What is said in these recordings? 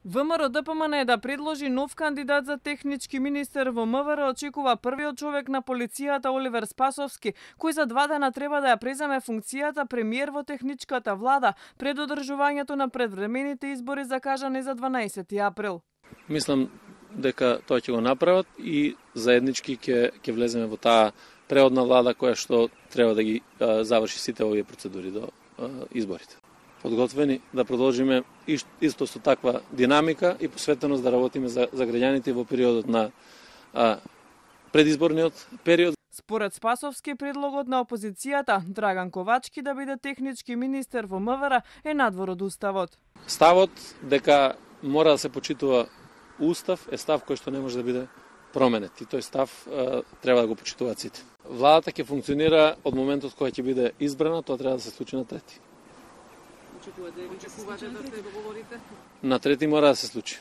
ВМРО ДПМН е да предложи нов кандидат за технички министер во МВР, очекува првиот човек на полицијата Оливер Спасовски, кој за 2 дена треба да ја преземе функцијата премиер во техничката влада пред одржувањето на предвремените избори закажани за 12 април. Мислам дека тоа ќе го направат и заеднички ќе влеземе во таа преодна влада која што треба да ги заврши сите овие процедури до изборите. Подготвени да продолжиме исто со таква динамика и посветеност да работиме за граѓаните во периодот на предизборниот период. Според Спасовски, предлогот на опозицијата Драган Ковачки да биде технички министер во МВР е надвор од уставот. Ставот дека мора да се почитува устав е став кој што не може да биде променет и тој став треба да го почитуваат сите. Владата ќе функционира од моментот кога ќе биде избрана, тоа треба да се случи на 3. Очекувате да се договорите? На 3 мора да се случи,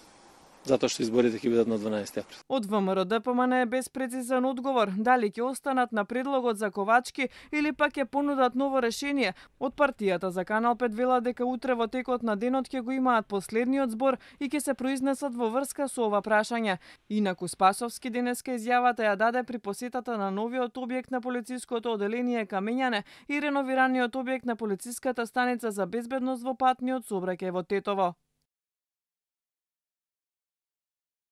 затоа што изборите ќе бидат на 12 април. Од ВМРО ДПМН е без прецизен одговор дали ќе останат на предлогот за Ковачки или пак ќе понудат ново решение. Од партијата за Канал 5 вела дека утре во текот на денот ќе го имаат последниот збор и ќе се произнесат во врска со ова прашање. Инаку Спасовски денеска изјавата ја даде при посетата на новиот објект на полициското оделение Камењане и реновираниот објект на полициската станица за безбедност во патниот сообраќај во Тетово.